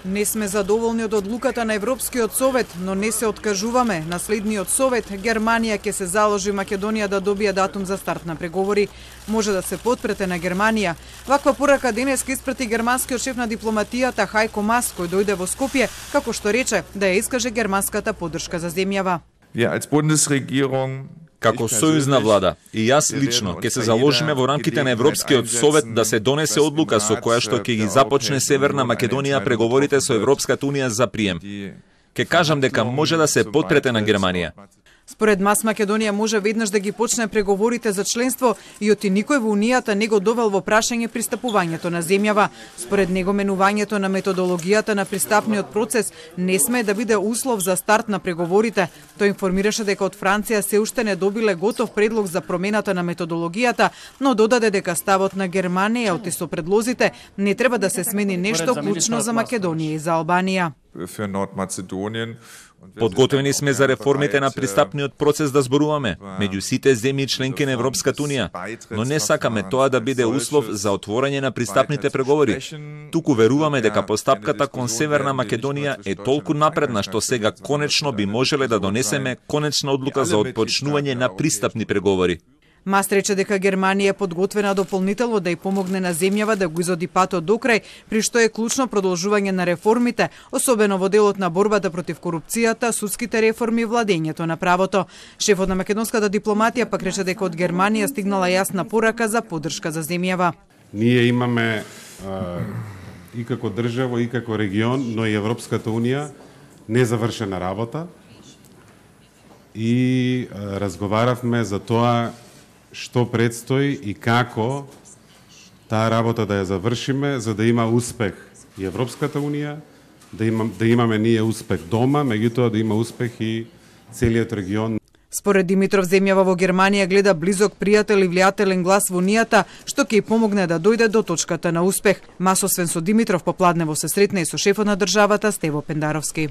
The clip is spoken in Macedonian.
Не сме задоволни од одлуката на Европскиот совет, но не се откажуваме. На следниот совет Германија ќе се заложи Македонија да добие датум за старт на преговори. Може да се подпрете на Германија. Ваква порака денес ке испрати германскиот шеф на дипломатијата Хајко Мас, кој дојде во Скопје, како што рече да ја искаже германската поддршка за земјава. Како сојузна влада и јас лично ќе се заложиме во рамките на Европскиот совет да се донесе одлука со која што ќе ги започне Северна Македонија преговорите со Европската унија за прием. Ке кажам дека може да се подпрете на Германија. Според Мас, Македонија може веднаш да ги почне преговорите за членство и оти никој во Унијата не го довел во прашање пристапувањето на земјава. Според него, менувањето на методологијата на пристапниот процес не смее да биде услов за старт на преговорите. Тој информираше дека од Франција се уште не добиле готов предлог за промената на методологијата, но додаде дека ставот на Германија оти со предлозите не треба да се смени нешто клучно за Македонија и за Албанија. Подготвени сме за реформите на пристапниот процес да зборуваме меѓу сите земји членки на Европската унија, но не сакаме тоа да биде услов за отворање на пристапните преговори. Туку веруваме дека постапката кон Северна Македонија е толку напредна што сега конечно би можеле да донесеме конечна одлука за отпочнување на пристапни преговори. Мас рече дека Германија е подготвена дополнително да ја помогне на земјава да го изоди патот до крај, при што е клучно продолжување на реформите, особено во делот на борбата против корупцијата, судските реформи и владењето на правото. Шефот на македонската дипломатија пак рече дека од Германија стигнала јасна порака за поддршка за земјава. Ние имаме и како држава, и како регион, но и Европската унија незавршена работа и разговаравме за тоа што предстои и како таа работа да ја завршиме, за да има успех и Европската унија, да имаме ние успех дома, меѓутоа да има успех и целиот регион. Според Димитров, земјава во Германија гледа близок пријател и влијателен глас во Унијата, што ќе ѝ помогне да дојде до точката на успех. Мас освен со Димитров попладнево се сретна и со шефот на државата Стево Пендаровски.